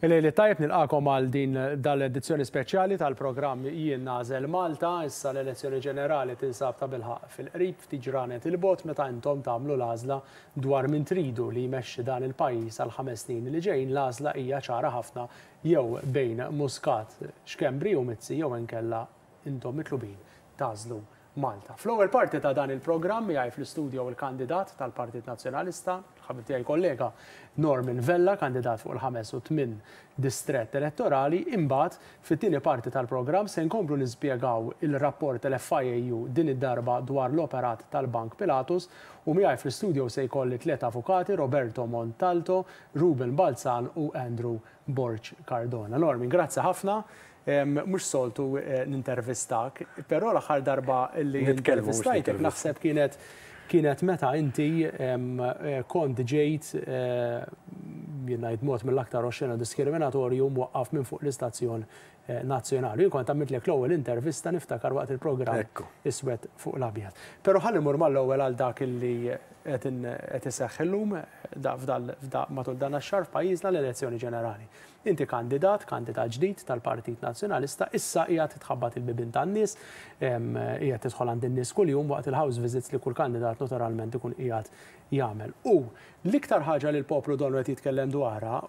Il-lejl it-tajjeb nilqagħkom għal din dal-edizzjoni speċjali tal-programm Jien Nagħżel Malta. Issa l-elezzjoni ġenerali tinsab tabilħaqq fil-qrib, ftit ġranet 'il bogħod meta intom tagħmlu l-għażla dwar min tridu li jmexxi dan il-pajjiż għall-ħames snin li ġejjin. L-għażla hija ċara ħafna jew bejn Muscat, Schembri u Mizzi jew inkella intom mitlubin tagħżlu Malta. Fl-ewwel parti ta' dan il-programm miegħi fl-istudio il-kandidat tal-Partit Nazzjonalista, il-ħabib tiegħi kollega Norman Vella, kandidat fuq il-ħames u tmien distrett elettorali. Imbagħad, fit-tieni parti tal-programm se nkomplu nispjegaw il-rapport tal-FIAU din id-darba dwar l-operat tal-Bank Pilatus u miegħi fl-istudio se jkolli tliet avukati, Roberto Montalto, Ruben Balzan u Andrew Borg Cardona. Norman, grazzi ħafna. Mhux soltu nintervistak, però l-aħħar darba li intervistajtek naħseb kienet kienet meta inti kont ġejt jien ngħid mod mill-aktar oxxena diskriminatorju mwaqqaf minn fuq l-istazzjon nazzjonali. Jien kont għamiltlek l-ewwel intervista niftakar waqt il-programm Iswed fuq l-Abjad. Però ħalli mmur mal-ewwel għal dak li qed iseħħ illum matul dan ix-xahar f'pajjiżna l-elezzjoni ġenerali. Inti kandidat, kandidat ġdid tal-Partit Nazzjonalista, issa qiegħed titħabbat il-bibien tan-nies, qiegħed tidħol għand in-nies kuljum waqt il-house visits li kull kandidat naturalment ikun qiegħed jagħmel. U l-iktar ħaġa li l-poplu donnu qed jitkellem dwarha,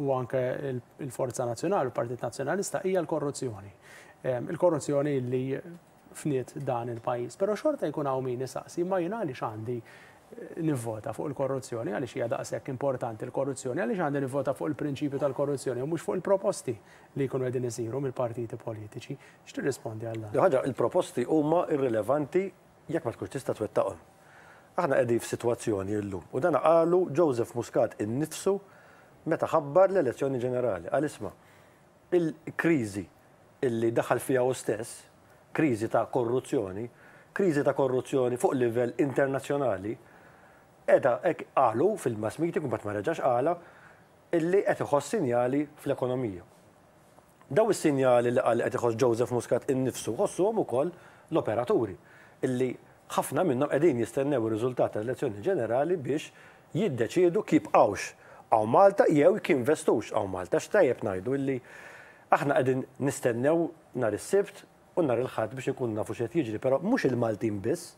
u anke l-Forza Nazzjonali u l-Partit Nazzjonalista, hija l-korruzzjoni. Il-korruzzjoni li fniet dan il-pajjiż. Però xorta jkun hawn min isaqsi, imma jien għaliex għandi nivvota fuq il-korruzzjoni, għaliex hija daqshekk importanti l-korruzzjoni, għaliex għandi nivvota fuq il-prinċipju tal-korruzzjoni u mhux fuq il-proposti li jkunu qegħdin isiru mill-partiti politiċi. X'tirrispondi għal dan? Ħaġa, il-proposti huma irrilevanti jekk ma tkunx tista' twettaqhom. Aħna qegħdin f'sitwazzjoni llum, u dan qalu Joseph Muscat innifsu meta ħabbar l-elezzjoni ġenerali. Qal isma' il-kriżi illi daħal fiha hu stess, kriżi ta' korruzzjoni, kriżi ta' korruzzjoni fuq livell internazzjonali, qiegħda hekk qalu fil-mass meeting u mbagħad ma reġax qalha, illi qed iħoss sinjali fl-ekonomija. Daw is-sinjali li qal li qed iħoss Joseph Muscat innifsu ħossuhom ukoll l-operaturi, illi ħafna minnhom qegħdin jistennew ir-riżultat tal-elezzjoni ġenerali biex jiddeċiedu jekk jibqgħux hawn Malta jew jekk jinvestux hawn Malta. Għax tajjeb ngħidu illi aħna qegħdin nistennew nhar is-Sibt u nhar il-Ħadd biex inkunu nafu x'qed jiġri, però mhux il-Maltin biss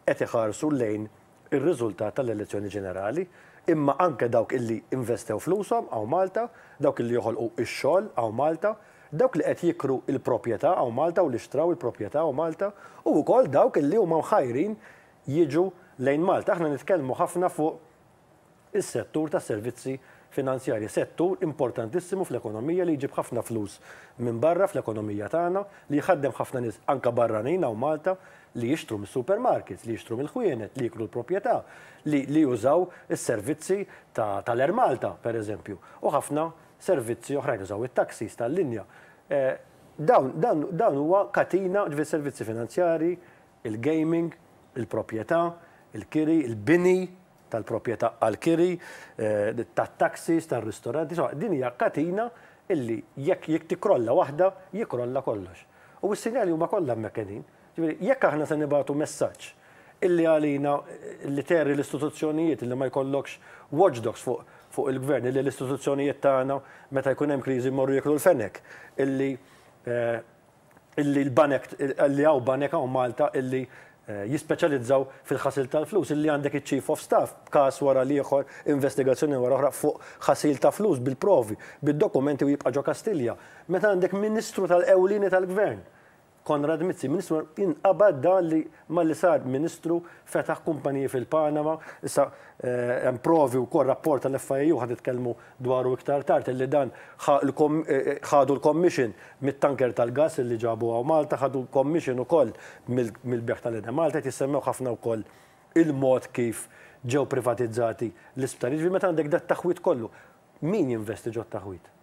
qed iħarsu lejn ir-riżultat tal-elezzjoni ġenerali, imma anke dawk illi investew flushom hawn Malta, dawk illi joħolqu x-xogħol hawn Malta, dawk li qed jikru l-proprjetà hawn Malta u li xtraw il-proprjetà hawn Malta, u wkoll dawk illi huma mħajrin jiġu lejn Malta. Aħna nitkellmu ħafna fuq is-settur tas-servizzi finanzjarji, settur importantissimu fl-ekonomija li jġib ħafna flus minn barra fl-ekonomija tagħna, li jħaddem ħafna nies anke barranin hawn Malta li jixtru mis-supermarkets, li jixtru mill-ħwienet, li jikru l-proprjetà, li li jużaw is-servizzi tal-Air Malta, per eżempju, u ħafna servizzi oħrajn, jużaw it-taxis tal-linja. Dawn dan dan huwa katina, ġifieri servizzi finanzjarji, il-gaming, il-proprjetà, il-kiri, il-bini tal-proprjetà għall-kiri, tat-taxis, tar-ristoranti, insomma din hija katina illi jekk jekk tikkrolla waħda, jikkrolla kollox. U s-sinjali huma kollha hemmhekk qegħdin. Ġifieri jekk aħna se nibagħtu messaġġ illi għalina li terri l-istituzzjonijiet illi ma jkollokx watchdogs fuq fuq il-gvern, illi l-istituzzjonijiet tagħna meta jkun hemm kriżi jmorru jieklu l-fenek, illi illi l-banek, illi hawn banek hawn Malta illi jispeċjalizzaw fil-ħasil tal-flus, illi għandek iċ-Chief of Staff b'każ wara l-ieħor, investigazzjoni wara oħra fuq ħasil ta' flus bil-provi, bid-dokumenti u jibqa' ġo Kastilja. Meta għandek Ministru tal-ewlieni tal-Gvern Konrad Mizzi, Ministru inqabad dan li malli sar Ministru fetaħ kumpaniji fil-Panama, issa hemm provi wkoll rapport tal-FIAU ħa nitkellmu dwaru iktar tard illi dan ħadu l-commission mit-tanker tal-gass illi ġabu hawn Malta, ħadu commission ukoll mill-bejgħ tal-Enemalta, qed jissemmew ħafna wkoll il-mod kif ġew privatizzati l-isptarijiet. Ġifieri meta għandek dat-taħwid kollu, min jinvesti ġot-taħwid?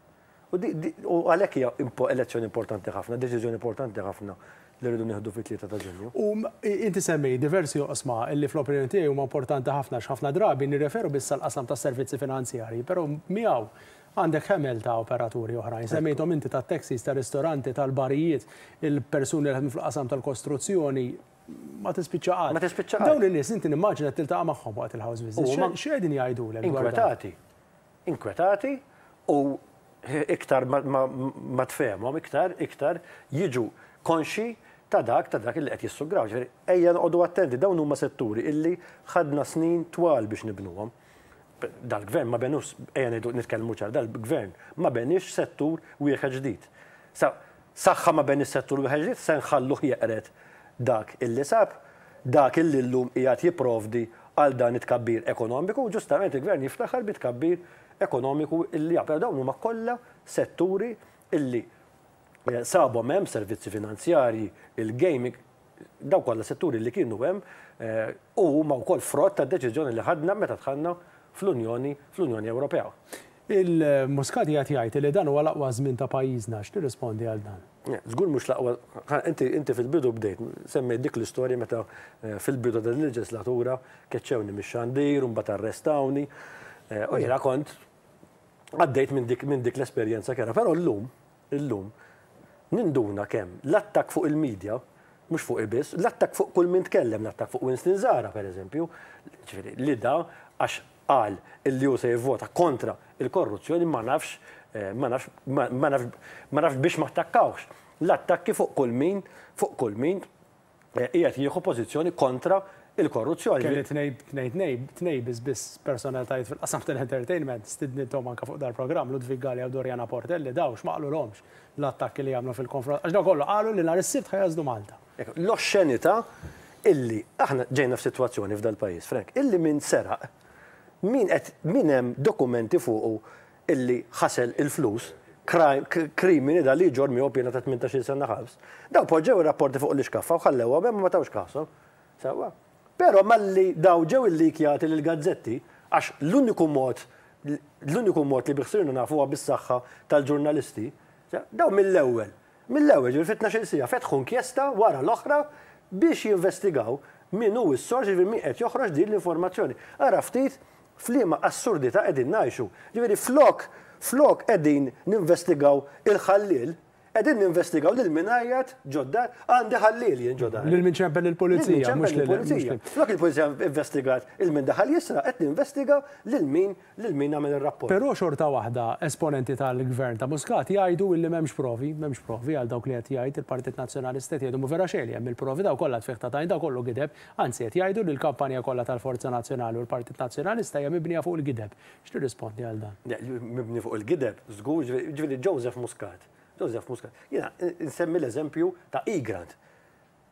U għalhekk hija elezzjoni importanti ħafna, deċiżjoni importanti ħafna li rridu nieħdu fit-3 ta' Ġunju. U inti semmejt diversi oqsma li fl-opinjoni tiegħi huma importanti ħafna għax ħafna drabi nirreferu biss għall-qasam tas-servizzi finanzjarji, però miegħu għandek ħemel ta' operaturi oħrajn. Semmejthom inti tat-taxis, tar-ristoranti, tal-barijiet, il-persuni li jaħdmu fil-qasam tal-kostruzzjoni, ma tispiċċa qatt. Ma tispiċċa qatt. Dawn in-nies inti nimmaġina tiltaqa' magħhom waqt il-house visits. X'qegħdin jgħidulek dwar dan? Inkwetati. Inkwetati u. Iktar ma tfehmhom, iktar, iktar jiġu konxji ta' dak, ta' dak illi qed jissugraw. Ġifieri, ejja noqogħdu attenti, dawn huma setturi illi ħadna snin twal biex nibnuhom. Dal-gvern ma benux, ejja ngħidu nitkellmu ċar, dal-gvern ma beniex settur wieħed ġdid. Sa saħħa ma beniex settur wieħed ġdid, se nħalluh jeqred dak illi sab, dak illi llum qiegħed jipprovdi għal dan it-tkabbir ekonomiku, u ġustament il-gvern jiftaħar bit-tkabbir ekonomiku illi hawn. Però dawn huma kollha setturi illi sabhom hemm, servizzi finanzjarji, il-gaming, dawn kollha setturi li kienu hemm u huma wkoll frott tad-deċiżjoni li ħadna meta dħalna fl-Unjoni fl-Unjoni Ewropea. Il-Muscat qiegħed jgħid li dan huwa l-aqwa żmien ta' pajjiżna, x'tirrispondi għal dan? Żgur mhux l-aqwa, inti inti fil-bidu bdejt, semmejt dik l-istorja meta fil-bidu ta' din il-leġislatura keċċewni mix-xandir u mbagħad arrestawni. U jiena kont għaddejt minn dik minn dik l-esperjenza kerha. Però llum, illum, ninduna kemm l-attakk fuq il-media, mhux fuqi biss, l-attakk fuq kull min tkellem, l-attakk fuq Winston Zahra pereżempju, ġifieri li da għax qal illi hu se jivvota kontra l-korruzzjoni ma nafx ma nafx ma nafx ma nafx biex ma attakkawhx. L-attakki fuq kull min fuq kull min qiegħed jieħu pożizzjoni kontra l-korruzzjoni. Kelli tnejn tnejn tnejn biss biss personalitajiet fil-qasam tal-entertainment stidnithom anke fuq dal-programm, Ludwig Galea u Doriana Portelli, dawn x'ma qalulhomx l-attakki li għamlu fil-konfront għax dawn kollu qalu li nhar is-Sibt ħa jagħżlu Malta. L-oxxenità illi aħna ġejna f'sitwazzjoni f'dal-pajjiż, Frank, illi min seraq, min qed min hemm dokumenti fuqu illi ħasel il-flus, krimini da li jġorr miegħu piena ta' 18-il sena ħabs, dawn poġġew ir-rapporti fuq l-ixkaffa u ħallewhom hemm u ma tawx kashom. Sewwa. Però malli dawn ġew illikjati lill-gazzetti, għax l-uniku mod l-uniku mod li bih sirna nafu huwa bis-saħħa tal-ġurnalisti, dawn mill-ewwel Mill-ewwel, jiġifieri fi 12-il siegħa, fetħu inkjesta wara l-oħra biex jinvestigaw min hu s-sors, jiġifieri min qed joħroġ din l-informazzjoni. Ara ftit f'liema assurdità qegħdin ngħixu. Jiġifieri flok flok qegħdin ninvestigaw il-ħalliel, qegħdin ninvestigaw lil min għajjat ġod-dar, għandi ħalliel jien ġo dari. Lil min ċempel lill-pulizija, mhux lil. Lil-pulizija. Flok il-pulizija investigat il min daħal jisraq, qed ninvestiga lil min lil min għamel ir-rapport. Però xorta waħda esponenti tal-Gvern ta' Muscat jgħidu illi m'hemmx provi, m'hemmx provi għal dawk li qed jgħid il-Partit Nazzjonalista qed jgħidu mhu vera xejn li hemm il-provi dawn kollha tfigħ ta' tajn dawn kollu gideb, anzi qed jgħidu li l-kampanja kollha tal-Forza Nazzjonali u l-Partit Nazzjonalista hija mibnija fuq il-gideb. X'tirrispondi għal dan? Le, mibni fuq il-gideb żgur, ġifieri Joseph Muscat, Joseph Muscat, jiena nsemmi l-eżempju ta' Egrant.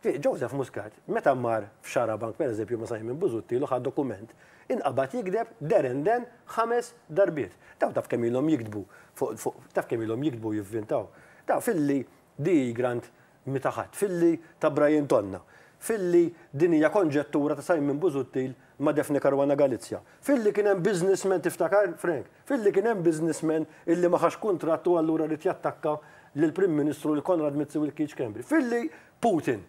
Joseph Muscat, meta mar f'Xarabank pereżempju ma' Simon Busuttil u ħa dokument, inqabad jigdeb there and then ħames darbiet. Dawn taf kemm ilhom jiktbu fuq, taf kemm ilhom jiktbu u jivvintaw. Dawn filli di Grant mhi ta' ħadd, filli ta' Brian Tonna, filli din hija konġettura ta' Simon Busuttil ma' Daphne Caruana Galizia, filli kien hemm businessman tiftakar Frank, filli kien hemm businessman illi ma ħax kuntratt u allura ried jattakka lill-Prim Ministru, lil Konrad Mizzi u lil Keith Schembri, filli Putin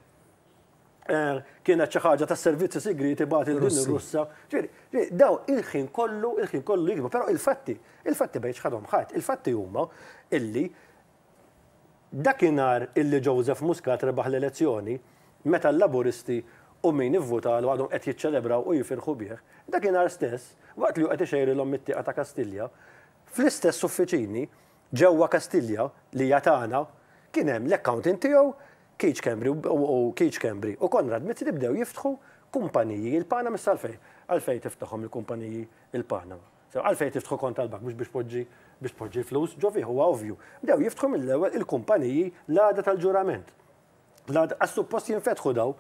kienet xi ħaġa tas-servizzi sigrieti bagħat lil din ir-Russa. Ġifieri, dawn il-ħin kollu, il-ħin kollu jikdbu, però il-fatti, il-fatti ma jiċħadhom ħadd, il-fatti huma illi dakinhar illi Joseph Muscat rebaħ l-elezzjoni, meta l-Laburisti u min ivvutalu għadhom qed jiċċelebraw u jifirħu bih, dakinhar stess, waqt li hu qed ixejrilhom mit-tieqa ta' Kastilja, fl-istess uffiċini, Ġewwa Kastilja, li hija tagħna, kien hemm l-accountant tiegħu, Keith Schembri u Keith Schembri u Konrad Mizzi li bdew jiftħu kumpaniji il-Panama issa għalfejn għalfejn tiftaħhom il-kumpaniji il-Panama? Sew għalfejn tiftħu kont tal-bank mhux biex tpoġġi biex tpoġġi l-flus ġo fih huwa ovvju. Bdew jiftħu mill-ewwel il-kumpaniji l-għada tal-ġurament. L-għada għax suppost jinfetħu daw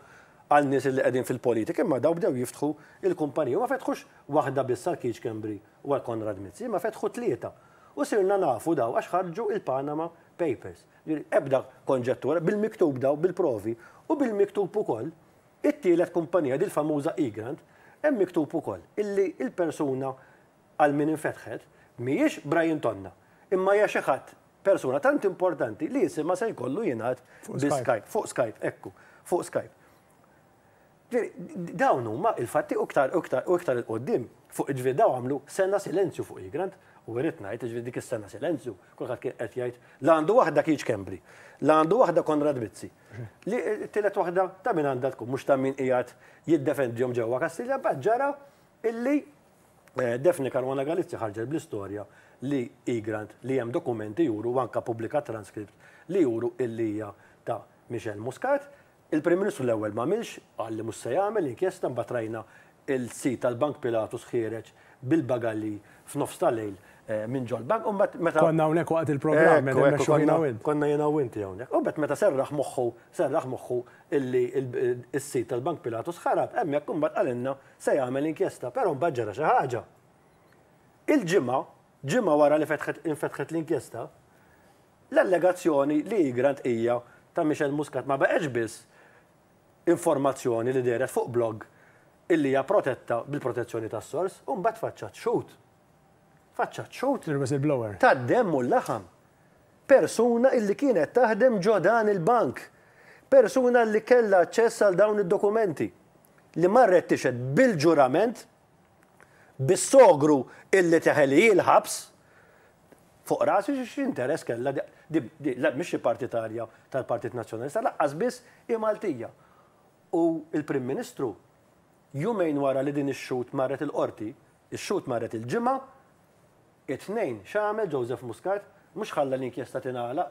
għal nies li qegħdin fil-politika imma daw bdew jiftħu il-kumpaniji u ma fetħux waħda biss għal Keith Schembri u għal Konrad Mizzi imma fetħu tlieta. U sirna nafu daw għax ħarġu il-Panama Papers. Jiġifieri ebda konġettura, bil-miktub daw, bil-provi, u bil-miktub ukoll, it-tielet kumpanija, dil-famuża Egrant, hemm miktub ukoll illi l-persuna għal min infetħet mhijiex Brian Tonna, imma hija xi ħadd, persuna tant importanti li isimha se jkollu jingħad bi Skype, fuq Skype, ekku, fuq Skype. Ġifieri, dawn huma il-fatti u iktar u iktar u iktar 'il quddiem fuq jiġifieri dawn għamlu sena silenzju fuq Egrant u irrid ngħid jiġifieri dik is-sena silenzju kulħadd kien qed jgħid la għandu waħda Keith Schembri, la għandu waħda Konrad Mizzi. Li t-tielet waħda ta' min għandha tkun mhux ta' min qiegħed jiddefendihom ġewwa Kastilja, mbagħad ġara illi Daphne Caruana Galizia ħarġet bl-istorja li Egrant li hemm dokumenti juru u anke ppubblikat transcript li juru illi hija ta' Michelle Muscat. Il-Prim Ministru l-ewwel m'għamilx, qal li mhux se jagħmel inkjesta mbagħad rajna il-sid tal-Bank Pilatus ħiereġ bil-bagalji f'nofs ta' lejl minn ġol-bank u mbagħad meta Konna hawnhekk waqt il-programm qed immexxu jiena u int. Konna jiena u inti hawnhekk. U mbagħad meta serraħ moħħu serraħ moħħu illi s-sid tal-Bank Pilatus ħarab, hemmhekk imbagħad qalilna se jagħmel inkjesta, però mbagħad ġara xi ħaġa. Il-Ġimgħa, ġimgħa wara li fetħet infetħet l-inkjesta, l-allegazzjoni li Egrant hija ta' Michelle Muscat ma baqgħetx biss informazzjoni li dehret fuq blog illi hija protetta bil-protezzjoni tas-sors, u mbagħad tfaċċat xhud. Tfaċċat xhud. Il-whistleblower. Tad-demm u l-laħam. Persuna illi kienet taħdem ġo dan il-bank. Persuna li kellha aċċess għal dawn id-dokumenti. Li marret tixhed bil-ġurament, bis-sogru illi teħel hi l-ħabs, fuq rasi x'interess kellha di, di, la mhix xi partitarja tal-Partit Nazzjonalista, laqqas biss hi Maltija. U l-Prim Ministru, jumejn wara li din ix-xhud marret il-Qorti, ix-xhud marret il-Ġimgħa, it-Tnejn x'għamel Joseph Muscat? Mhux ħalla l-inkjesta tingħalaq,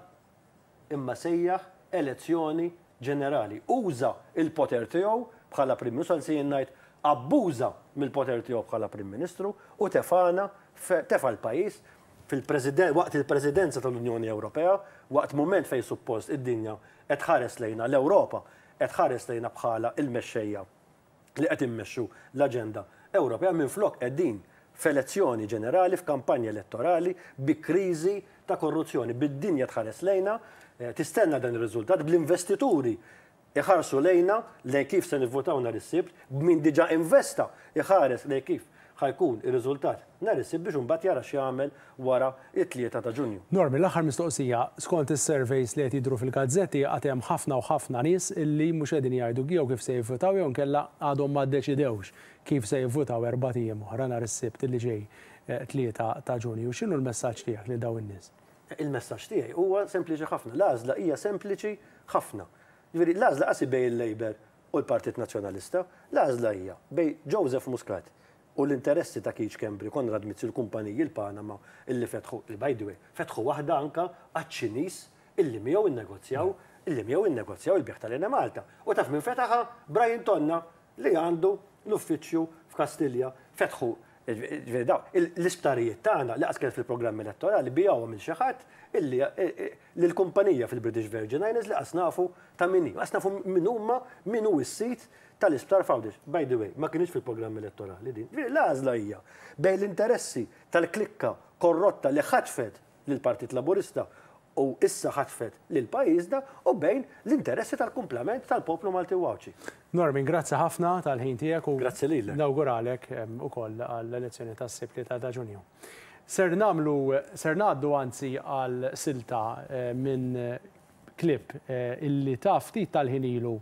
imma sejjaħ elezzjoni ġenerali. Uża l-poter tiegħu bħala Prim Ministru, anzi jien ngħid abbuża mill-poter tiegħu bħala Prim Ministru u tefagħna, tefa' l-pajjiż fil-President, waqt il-Presidenza tal-Unjoni Ewropea, waqt mument fejn suppost id-dinja qed tħares lejna, l-Ewropa qed tħares lejna bħala l-mexxejja li qed immexxu l-aġenda Ewropea minflok qegħdin f'elezzjoni ġenerali, f'kampanja elettorali, bi kriżi ta' korruzzjoni, bid-dinja tħares lejna, tistenna dan ir-riżultat, bl-investituri iħarsu lejna lejn kif se nivvutaw nhar is-Sibt, b'min diġà investa iħares lejn kif ħa jkun ir-riżultat nhar is-Sibt biex imbagħad jara x'jagħmel wara t-3 ta' Ġunju. Norman, l-aħħar mistoqsija, skont is-surveys li qed jidhru fil-gazzetti għad hemm ħafna u ħafna nies illi mhux qegħdin jgħidu jew kif se jivvutaw jew inkella għadhom ma ddeċidewx kif se jivvutaw erbat ijiem oħra nhar is-Sibt li ġej 3 ta' Ġunju. X'inhu l-messaġġ tiegħek lil dawn in-nies? Il-messaġġ tiegħi huwa sempliċi ħafna. L-għażla hija sempliċi ħafna. Jiġifieri l-għażla qas hi bejn il-Labour u l-Partit Nazzjonalista. L-għażla hija bejn Joseph Muscat u l-interessi ta' Keith Schembri, Konrad Mizzi u l-kumpaniji l-Panama illi fetħu, li by the way, fetħu waħda anke għaċ-Ċiniż illi miegħu nnegozjaw, illi miegħu nnegozjaw il-bejgħ tal-Enemalta. U taf min fetaħha? Brian Tonna li għandu l-uffiċċju f'Kastilja. Fetħu, jiġifieri dawn, l-isptarijiet tagħna li qas kienet fil-programm elettorali biegħuhom lil xi ħadd illi lil kumpanija fil-British Virgin Islands li qas nafu ta' min hi, qas nafu min huma, min hu s-sid tal-isptar f'Għawdex. By the way, ma kinitx fil-programm elettorali din. Ġifieri l-għażla hija bejn l-interessi tal-klikka korrotta li ħatfet lill-Partit Laburista u issa ħatfet lil pajjiżna u bejn l-interessi tal-kumplament tal-poplu Malti u Għawdxi. Norman, grazzi ħafna tal-ħin tiegħek u Grazzi lilek. nawguralek ukoll għall-elezzjoni tas-Sibt 3 ta' Ġunju. Ser nagħmlu, ser ngħaddu anzi għal silta minn clip illi ta ftit tal-ħin ilu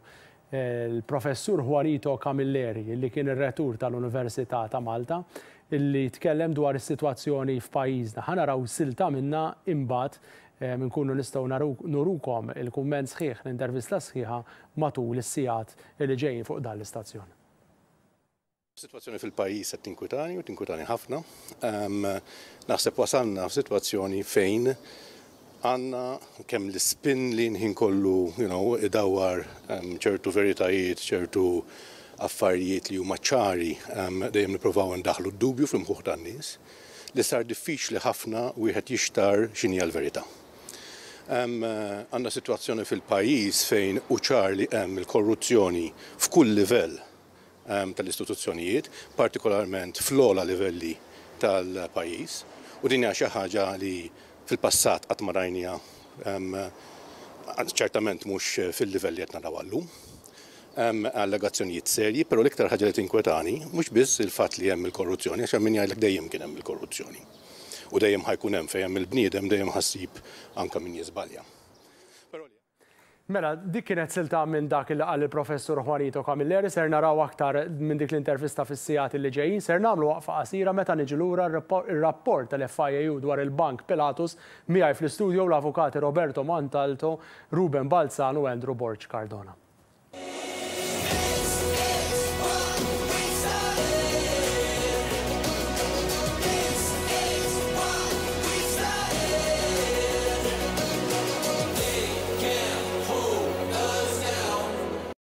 l-Professur Juanito Camilleri illi kien ir-Rettur tal-Università ta' Malta illi tkellem dwar is-sitwazzjoni f'pajjiżna. Ħa naraw silta minnha imbagħad nkunu nistgħu nurukom il-kumment sħiħ, l-intervista sħiħa matul is-sigħat li ġejjin fuq dan l-istazzjon. Is-sitwazzjoni fil-pajjiż qed tinkwitani u tinkwitani ħafna. Naħseb wasalna f'sitwazzjoni fejn għandna kemm l-ispin li l-ħin kollu you know, idawwar ċertu veritajiet, ċertu affarijiet li huma ċari, dejjem nippruvaw indaħħlu d-dubju fl-imħuħ tan-nies, li sar diffiċli ħafna wieħed jixtarr x'inhi l-verità. Għandna sitwazzjoni fil-pajjiż fejn hu ċar li hemm il-korruzzjoni f'kull livell tal-istituzzjonijiet, partikolarment fl-ogħla livelli tal-pajjiż, u din hija xi ħaġa li fil-passat qatt ma rajniha, ċertament mhux fil-livell li qed naraw għallum. Hemm allegazzjonijiet serji, però l-iktar ħaġa li tinkwetani mhux biss il-fatt li hemm il-korruzzjoni, għax hemm min jgħidlek dejjem kien hemm il-korruzzjoni. U dejjem ħa jkun hemm, fejn hemm il-bniedem dejjem ħa ssib anke min jiżbalja. Mela, dik kienet silta minn dak li qal il-Professur Juanito Camilleri, ser naraw aktar minn dik l-intervista fis-sigħat li ġejjin, ser nagħmlu waqfa qasira meta niġu lura r-rapport tal-FIAU dwar il-Bank Pilatus miegħi fl-istudio l-avukati Roberto Montalto, Ruben Balzan u Andrew Borg Cardona.